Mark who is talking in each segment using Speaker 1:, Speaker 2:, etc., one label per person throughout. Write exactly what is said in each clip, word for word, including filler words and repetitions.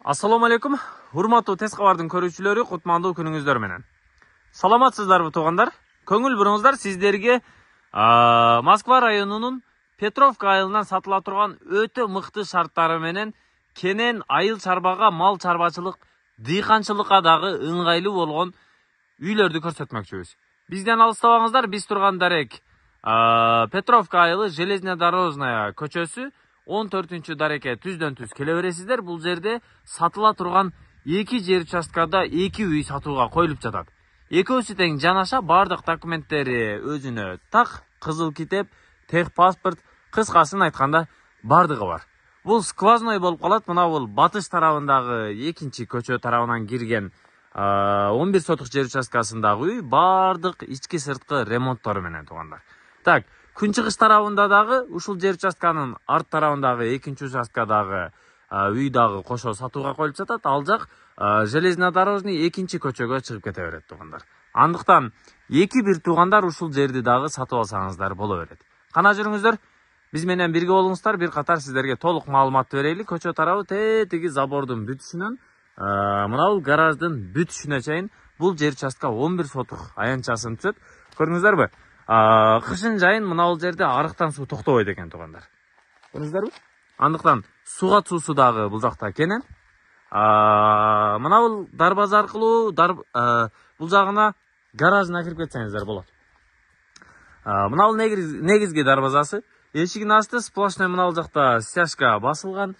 Speaker 1: Ассаламу алейкум, урматтуу тез кабардын көрүүчүлөрү, кутмандуу күнүңүздөр менен. Саламатсыздарбы туугандар? Көңүл буруңуздар, сиздерге Москва районунун Петровка айылынан сатыла турган өтө мыкты шарттары менен кенен айыл чарбага, мал чарбачылык, дыйканчылыкка дагы ыңгайлуу болгон үйлөрдү көрсөтмөкчүбүз. Бизден алыстабаңыздар, биз турган дарек Петровка айылы Железнодорожная көчөсү он төртүнчү дарекке түздөн түз келе бересиздер. Бул жерде сатыла турган эки жер участкада эки үй сатууга коюлуп жатат. Экөөсү тең жанаша, бардык документтери өзүнө так, кызыл китеп, тех паспорт, кыскасын айтканда бардыгы бар. Бул сквозной болуп калат. Мына бул батыш тарабындагы экинчи көчө тарабынан кирген он бир сотук жер участкасындагы үй бардык ички сырткы ремонттору менен туугандар. Так, күнчыгыш тарабында дагы ушул жер участканын арт тарабындагы экинчи участкадагы үй дагы кошо сатууга коюлуп жатат. Ал жак Железнодорожный экинчи көчөгө чыгып кете берет туугандар. Андыктан эки бир туугандар ушул жерди дагы сатып алсаңыздар боло берет. Кана жүрүңүздөр, биз менен бирге болуңуздар, бир катар сиздерге толук маалымат берели. Көчө тарабы тетиги забордун бүтүшүнөн мына бул гараждын бүтүшүнө чейин бул жер участка он бир сотук аянтчасын түзөт. Көрдүңүздөрбү? Кышын жайын мына бул жерде арыктан суу токтобойт экен туугандар. Көрдүңүздөрбү? Андыктан суга суусу дагы бул жакта кенен. Мына бул дарбаза аркылуу бул жагына гаражына кирип кетсеңиздер болот. Мына бул негизги дарбазасы. Эшигин ачты, сплошной мына бул жакта стяжка басылган.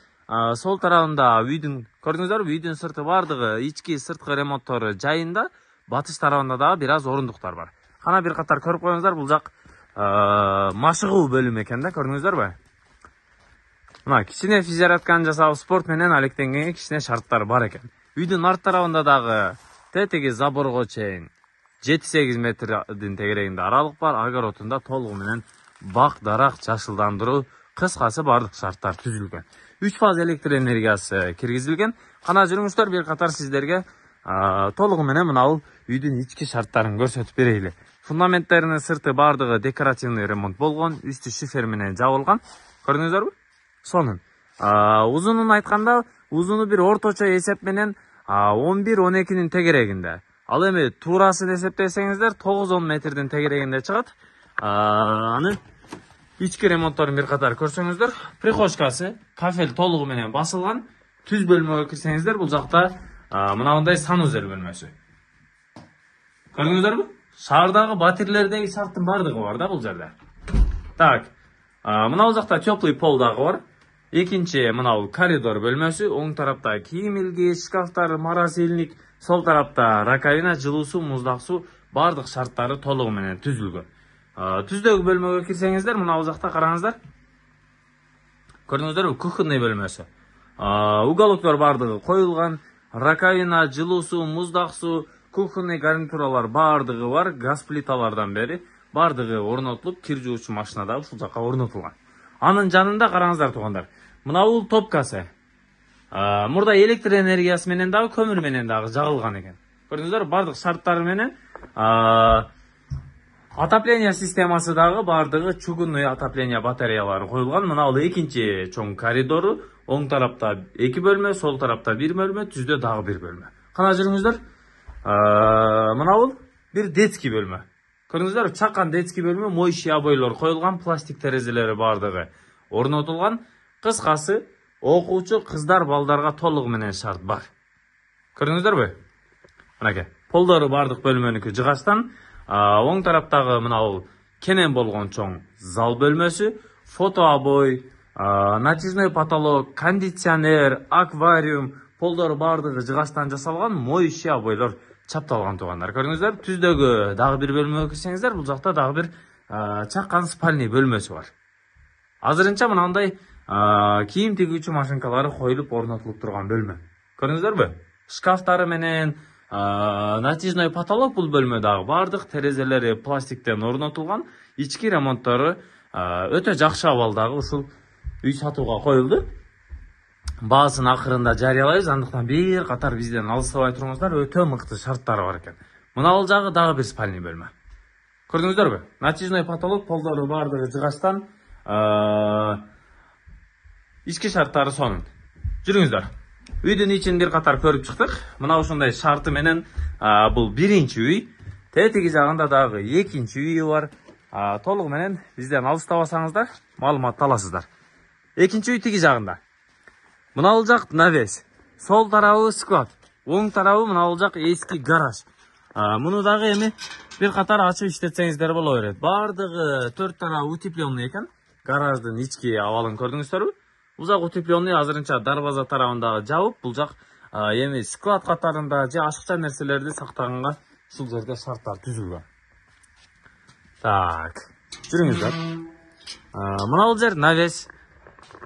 Speaker 1: Сол тарабында үйдүн, көрдүңүздөрбү, үйдүн сырты бардыгы ички сырткы ремонттору жайында, батыш тарабында дагы бир аз орундуктар бар. Кана бир катар көрүп коюңуздар, бул жак машыгуу бөлүмү экен да, көрдүңүздөрбү? Мына кичине физзарядканы жасап, спорт менен алектенгенге кичине шарттар бар экен. Үйдүн арт тарабында дагы тетиги заборго чейин жети сегиз метрдин тегерегинде аралык бар. Огородунда толугу менен бак, дарак, жашылдандыруу, кыскасы бардык шарттар түзүлгөн. үч фаз электр энергиясы киргизилген. Кана жүрүңүздөр, бир катар сиздерге толугу менен мына бул үйдүн ички шарттарын көрсөтүп берейли. Фундаменттеринин сырты бардыгы декоративный ремонт болгон, үстү шифер менен жабылган. Көрдүңүздөрбү? Сонун. Узунун айтканда, узуну бир орточо эсеп менен он бир он экинин тегерегинде. Ал эми туурасын эсептесеңиздер тогуз он метрдин тегерегинде чыгат. Аны ички ремонтторун бир катар көрсөңүздөр. Прихожкасы, кафель толугу менен басылган. Түз бөлмөгө кирсеңиздер, бул жакта мынандай санузел бөлмөсү. Көрдүңүздөрбү? Шаардагы батирлердеги шарттын бардыгы бар да бул жерде. Так, мына бул жакта теплый пол дагы бар. Экинчи мына бул коридор бөлмөсү, оң тарапта кийим илгич, шкафтар, морозильник, сол тарапта раковина, жылуу суу, муздак суу, бардык шарттары толугу менен түзүлгөн. Түздөгү бөлмөгө кирсеңиздер, мына бул жакта караңыздар. Көрдүңүздөрбү? Кухонный бөлмөсү. Уголоктор бардыгы коюлган, раковина, жылуу суу, муздак суу, кухонный гарнитуралар бардыгы бар, газ плиталардан бери бардыгы орнотулуп, кир жуучу машина да ушул жакка орнотулган. Анын жанында караңыздар туугандар. Мына бул топкасы. Мурда электр энергиясы менен дагы, көмүр менен дагы жагылган экен. Көрдүңүздөр, бардык шарттары менен отопление системасы дагы бардыгы чугунный отопление батареялары коюлган. Мына бул экинчи чоң коридору, оң тарапта эки бөлмө, сол тарапта бир бөлмө, түздө дагы бир бөлмө. Кана жүрүңүздөр. Мына бул бир детский бөлмө. Көрдүңүздөр, чакан детский бөлмө, моющий обойлор коюлган, пластик терезелери бардыгы орнотулган. Кыскасы, окуучу кыздар, балдарга толугу менен шарт бар. Көрдүңүздөрбү? Мынакей, полдору бардык бөлмөнүкү жыгачтан. Оң тараптагы мына бул кенен болгон чоң зал бөлмөсү, фото обой, натяжной потолок, кондиционер, аквариум, полдору бардыгы жыгачтан жасалган, моющий обойлор чапталган туугандар. Көрдүңүздөр, түздөгү дагы бир бөлмөгө кирсеңиздер, бул жакта дагы бир чакан спальный бөлмөсү бар. Азырынча мынандай кийим тигүүчү машинкалары коюлуп орнотулуп турган бөлмө. Көрдүңүздөрбү? Шкафтары менен натяжной потолок бул бөлмө дагы бардык, терезелери пластиктен орнотулган, ички ремонттору өтө жакшы абалдагы ушул үй сатууга коюлду. Баасын акырында жарыялайбыз, андыктан бир катар бизден алыстабай туруңуздар, өтө мыкты шарттары бар экен. Мына бул жагы дагы бир спальный бөлмө. Көрдүңүздөрбү? Натяжной потолок, полдору бардыгы жыгачтан, ички шарттары сонун. Жүрүңүздөр. Үйдүн ичин бир катар көрүп чыктык. Мына ушундай шарты менен бул биринчи үй. Тетиги жагында дагы экинчи үйү бар. Толугу менен бизден алыстабасаңыздар, маалымат аласыздар. Экинчи үй тиги жагында. Мына бул жак навес. Сол тарабы склад. Оң тарабы мына бул жак эски гараж. Муну дагы эми бир катар ачып иштетсеңиздер боло берет. Бардыгы төрт тарабы утепленный экен. Гараждын ички абалын көрдүңүздөрбү? Бул жак утепленный азырынча дарбаза тарабындагы жабып, бул жак эми склад катарында же ашыкча нерселерди сактаганга ушул жерде шарттар түзүлгөн. Так, жүрүңүздөр. Мына бул жер навес.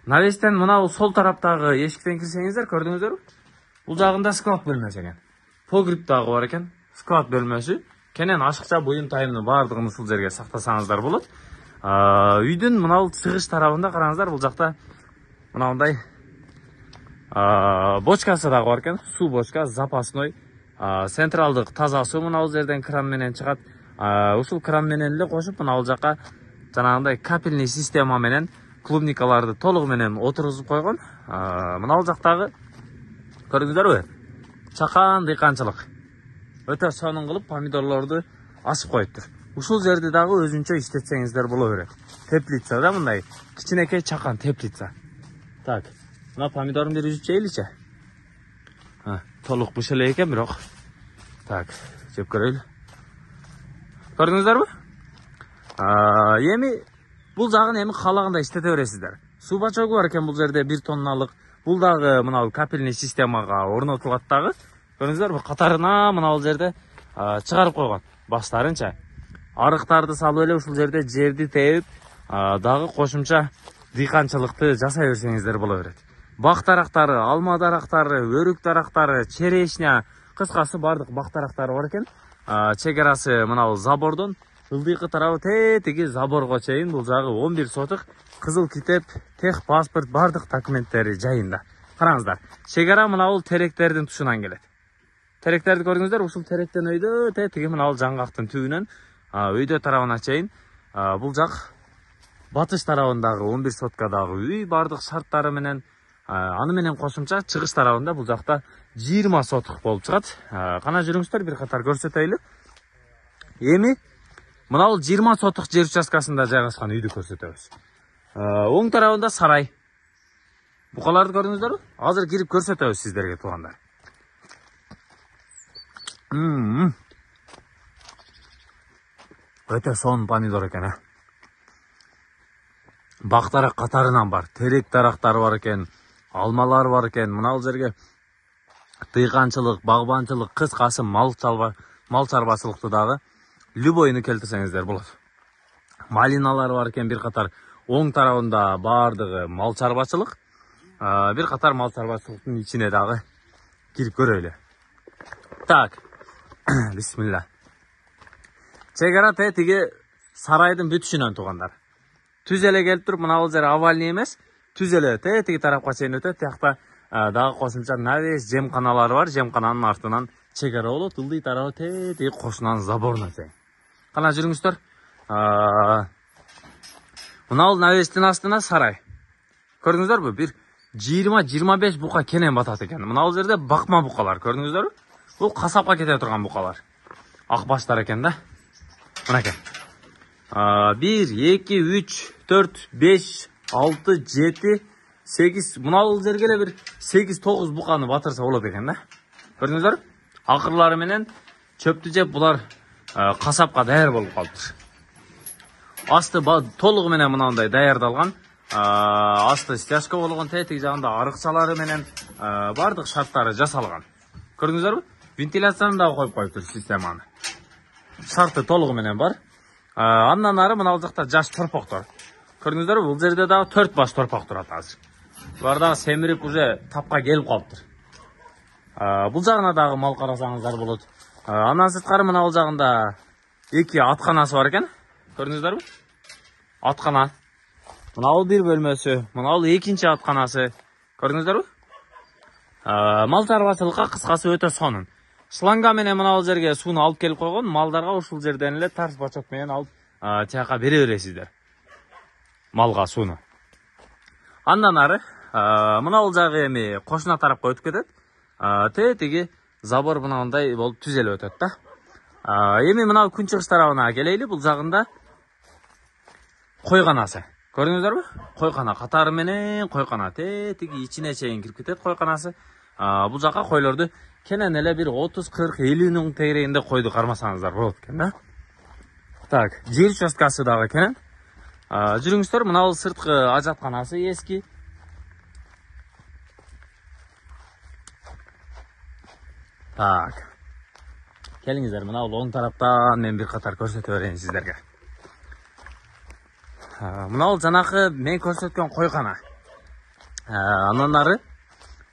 Speaker 1: Навестен мына бул сол тараптагы эшиктен кирсеңиздер, көрдүңүздөрбү? Бул жагында склад бөлмөсү экен. Погреб дагы бар экен. Склад бөлмөсү. Кенен ашыкча буюм тайымны бардыгын ушул жерге сактасаңыздар болот. Үйдүн мына бул чыгыш тарабында караңыздар, бул жакта мынандай бочкасы дагы бар экен. Суу бочка, запасной. Централдык таза суу мына бул жерден кран менен чыгат. Ушул кран менен эле кошуп, мына бул жака жанагындай капельный система менен клубникаларды толугу менен отургузуп койгон. Мына бул жактагы көрдүңүздөрбү? Чакан дыйканчылык. Өтө сонун кылып помидорлорду асып коюптур. Ушул жерди дагы өзүнчө иштетсеңиздер боло берет. Теплица да мындай кичинекей чакан теплица. Так, мына помидорун бир үзүп жейли-че. Толук быш эле экен бирок. Так, жеп көрөйлү. Көрдүңүздөрбү? Эми бул жагын эми каалагандай иштете бересиздер. Суу бачогу бар экен бул жерде бир тонналык. Бул дагы мына капельный системага орнотулат дагы. Көрдүңүздөрбү? Катарына мына бул жерде чыгарып койгон баштарынча. Арыктарды салып эле ушул жерде жерди терип, дагы кошумча дыйканчылыкты жасай берсеңиздер боло берет. Бак дарактары, алма дарактары, өрүк дарактары, черешня, кыскасы бардык бак дарактары бар экен. Чек арасы мына бул забордон ылдыйкы тарабы тетиги заборго чейин, бул жагы он бир сотык, кызыл китеп, тех паспорт бардык документтери жайында. Караңыздар, чек ара мына бул теректердин тушунан келет. Теректерди көрдүңүздөр, ушул теректен өйдө тетиги мына бул жаңгактын түбүнөн өйдө тарабына чейин. Бул жак батыш тарабындагы он бир соткадагы үй бардык шарттары менен, аны менен кошумча чыгыш тарабында бул жакта жыйырма сотук болуп чыгат. Кана жүрүңүздөр, бир катар көрсөтөйлү. Эми мына бул жыйырма сотук жер участкасында жайгашкан үйдү көрсөтөбүз. Оң тарабында сарай. Букаларды көрдүңүздөрбү? Азыр кирип көрсөтөбүз сиздерге туугандар. Өтө сонун помидор экен, а. Бак дарак катарынан бар, терек дарактары бар экен, алмалар бар экен. Мына бул жерге дыйканчылык, багбанчылык, кыскасы мал чарбачылыкты дагы любойну келтирсеңиздер болот. Малиналар бар экен бир катар. Оң тарабында бардыгы мал чарбачылык. Бир катар мал чарбачылыктын ичине дагы кирип көрөйлү. Так. Бисмилла. Чек ара тетиги сарайдын бүтүшүнөн туугандар. Түз эле келип туруп, мына бул жер овальный эмес, түз эле тетиги тарапка чейин өтөт. Тиякта дагы кошумча навес жемканалары бар. Жемкананын артынан чек ара болот. Ылдый тарабы тетиги кошунан заборуна чейин. Кана жүрүңүздөр. Мына бул навестин астына сарай. Көрдүңүздөрбү? Бир жыйырма жыйырма беш бука кенен батат экен. Мына бул жерде бакма букалар, көрдүңүздөрбү? Бул касапка кете турган букалар. Ак баштар экен да. Мынакей. бир, эки, үч, төрт, беш, алты, жети, сегиз. Мына бул жерге эле бир сегиз тогуз буканы батырса болот экен да. Көрдүңүздөр? Акырлары менен чөптү жеп булар касапка даяр болуп калыптыр. Асты толугу менен мынандай даярдалган. Асты стяжка болгон, тетиги жагында арыкчалары менен бардык шарттары жасалган. Көрдүңүздөрбү? Вентиляцияны дагы коюп коюптур системаны. Шарты толугу менен бар. Андан ары мына бул жакта жаш торпоктор. Көрдүңүздөрбү? Бул жерде дагы төрт баш торпок турат азыр. Булар дагы семирип уже тапка келип калыптыр. Бул жагына дагы мал карасаңыздар болот. Андан сырткары мына бул жагында эки атканасы бар экен. Көрдүңүздөрбү? Аткана. Мына бул бир бөлмөсү, мына бул экинчи атканасы. Көрдүңүздөрбү? Мал чарбачылыкка кыскасы өтө сонун. Шланга менен мына бул жерге сууну алып келип койгон. Малдарга ушул жерден эле тарс бачок менен алып тияка бере бересиздер. Малга сууну. Андан ары Мына бул жагы эми кошуна тарапка өтүп кетет. Тетиги забор мынандай болуп түзөлүп өтөт да. Эми мына күн чыгыш тарабына келейли. Бул жагында койканасы. Көрдүңүздөрбү? Койкана катары менен койкана тетиги ичине чейин кирип кетет койканасы. Бул жака койлорду кенен эле бир отуз кырк элүүнүн тегерегинде койду кармасаңыздар болот экен да. Так, жер участкасы дагы кенен. Жүрүңүздөр, мына бул сырткы ажатканасы эски. Так. Келиңиздер, мына бул оң тараптан мен бир катар көрсөтө берейин сиздерге. Мына бул жанакы мен көрсөткөн койкана. Андан ары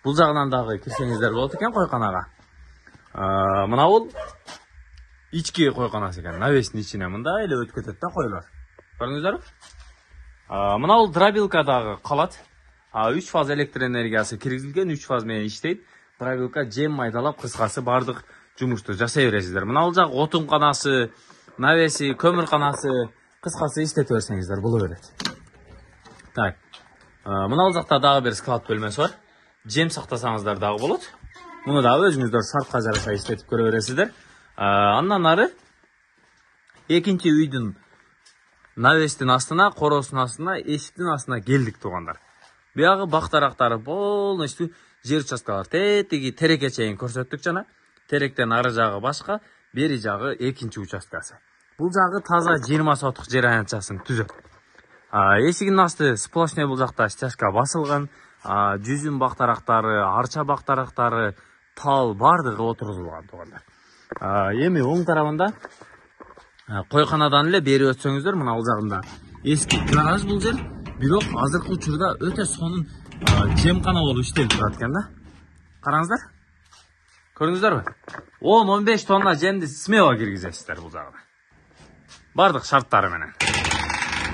Speaker 1: бул жагынан дагы кирсеңиздер болот экен койканага. Мына бул ички койканасы экен. Навестин ичине мындай эле өтүп кетет да койлор. Көрдүңүздөрбү? Мына бул дробилка дагы калат. үч фаз электр энергиясы киргизилген, үч фаз менен иштейт. Дробилка жем майдалап, кыскасы бардык жумушту жасай бересиздер. Мына бул жак отун канасы, навеси, көмүр канасы, кыскасы иштете берсеңиздер боло берет. Так. Мына бул жакта дагы бир склад бөлмөсү бар. Жем сактасаңыздар дагы болот. Муну дагы өзүңүздөр шартка жараша иштетип көрө бересиздер. Андан ары экинчи үйдүн навестин астына, коросунун астына, эшиктин астына келдик туугандар. Буягы бактарактары полностью жер участкалар. Тетиги тереке чейин көрсөттүк жана. Теректен ары жагы башка, бери жагы экинчи участкасы. Бул жагы таза жыйырма сотук жер аянтчасын түзөт. Эшигинин асты сплошной бул жакта стяжка басылган. Жүзүм бактарактары, арча бактарактары, тал бардыгы отургузулган туугандар. Эми оң тарабында койканадан эле бери өтсөңүздөр, мына бул жагында эски гараж бул жер, бирок азыркы учурда өтө сонун жемкана болуп иштелип турат экен да. Караңыздар. Көрдүңүздөрбү? он он беш тонна жемди смело киргизесиздер бул жагына. Бардык шарттары менен.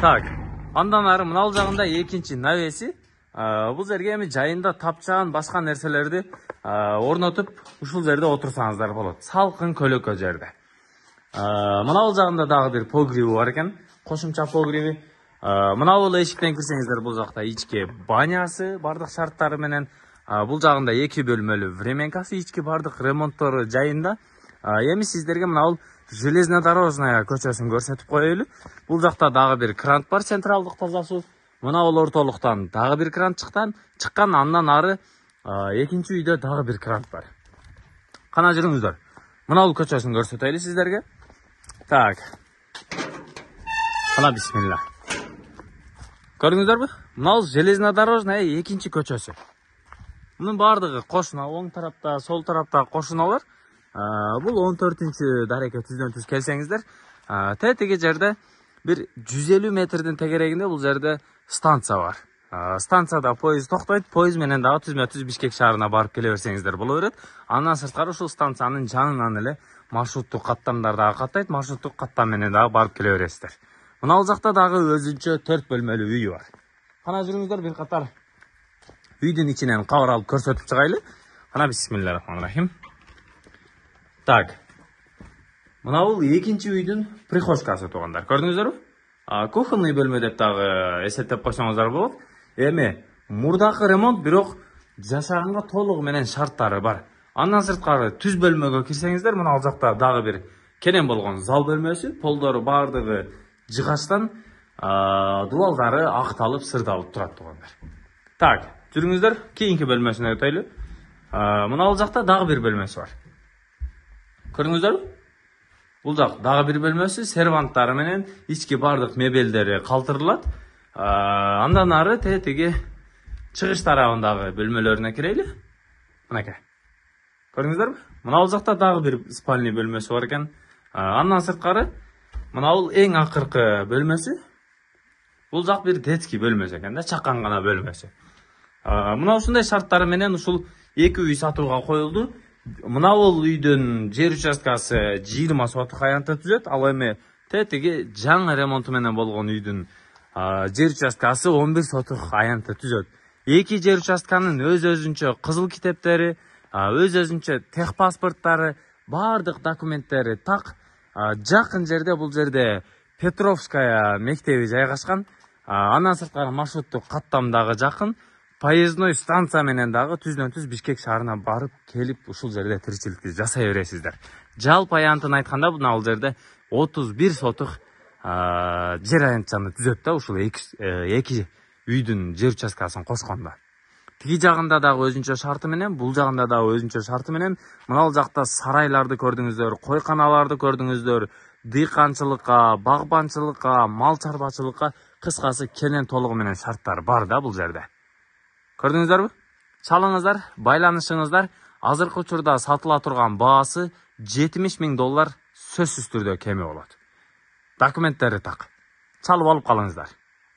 Speaker 1: Так, андан ары мына бул жагында экинчи навеси. Бул жерге эми жайында тапчан башка нерселерди орнотуп, ушул жерде отурсаңыздар болот. Салкын көлөкө жерде. Мына бул жагында дагы бир погреби бар экен, кошумча погреби. Мына бул эшиктен кирсеңиздер бул жакта ички банясы бардык шарттары менен. Бул жагында эки бөлмөлүү временкасы, ички бардык ремонттору жайында. Эми сиздерге мына бул железнодорожная көчөсүн көрсөтүп коелу. Бул жакта дагы бир крант бар, централдык таза суу. Мына бул ортолуктан дагы бир крант чыккан, чыккан андан ары экинчи үйдө дагы бир крант бар. Кана жүрүңүздөр. Мына бул көчөсүн көрсөтөйлү сиздерге. Так. Кана бисмилла. Көрдүңүздөрбү? Мына бул железнодорожная экинчи көчөсү. Мунун бардыгы кошуна, оң тарапта, сол тарапта кошуналар. Бул он төртүнчү дареке түздөн түз келсеңиздер, тетиги жерде бир жүз элүү метрдин тегерегинде бул жерде станция бар. Станцияда поезд токтойт, поезд менен дагы түзмө түз Бишкек шаарына барып келе берсеңиздер боло берет. Андан сырткары ушул станциянын жанынан эле маршруттук каттамдар дагы каттайт, маршруттук каттам менен дагы барып келе бересиздер. Мына бул жакта дагы өзүнчө төрт бөлмөлүү үй бар. Кана жүрүңүздөр, бир катар үйдүн ичинен кабар алып көрсөтүп чыгайлы. Кана бисмиллахиррахманиррахим. Так. Мына бул экинчи үйдүн прихожкасы туугандар. Көрдүңүздөрбү? Кухонный бөлмө деп дагы эсептеп койсоңуздар болот. Эми мурдакы ремонт, бирок жашаганга толугу менен шарттары бар. Андан сырткары түз бөлмөгө кирсеңиздер, мына бул жакта дагы бир кенен болгон зал бөлмөсү, полдору бардыгы жыгачтан, дубалдары акталып, сырдалып турат туугандар. Так, жүрүңүздөр, кийинки бөлмөсүнө өтөйлү. Мына бул жакта дагы бир бөлмөсү бар. Көрдүңүздөрбү? Бул жак дагы бир бөлмөсү, серванттары менен ички бардык мебелдери калтырылат. Андан ары тетиги чыгыш тарабындагы бөлмөлөрүнө кирели. Мынакей. Көрдүңүздөрбү? Мына бул жакта дагы бир спальный бөлмөсү бар экен. Андан сырткары мына бул эң акыркы бөлмөсү. Бул жак бир детский бөлмөсү экен да, чакан гана бөлмөсү. Мына ушундай шарттары менен ушул эки үй сатууга коюлду. Мына бул үйдүн жер участкасы жыйырма сотук аянтта түзөт. Ал эми тетиги жаңы ремонту менен болгон үйдүн жер участкасы он бир сотук аянтта түзөт. Эки жер участканын өз-өзүнчө кызыл китептери, өз-өзүнчө техпаспорттары, бардык документтери так. Жакын жерде, бул жерде Петровская мектеби жайгашкан. Андан сырткары маршруттук каттам дагы жакын. поездной станция менен дагы түздөн түз Бишкек шаарына барып келип ушул жерде тиричиликти жасай бересиздер. Жалпы аянтын айтканда мына бул жерде отуз бир сотук жер аянтчаны түзөт да, ушул эки үйдүн жер участкасын кошкондо. Тиги жагында дагы өзүнчө шарты менен, бул жагында дагы өзүнчө шарты менен. Мына бул жакта сарайларды көрдүңүздөр, койканаларды көрдүңүздөр, дыйканчылыкка, багбанчылыкка, мал чарбачылыкка, кыскасы кенен толугу менен шарттар бар да бул жерде. Көрдүңүздөрбү? Чалыңыздар, байланышыңыздар. Азыркы учурда сатыла турган баасы жетимиш миң доллар сөзсүз түрдө кеми болот. Документтери так. Чалып алып калыңыздар.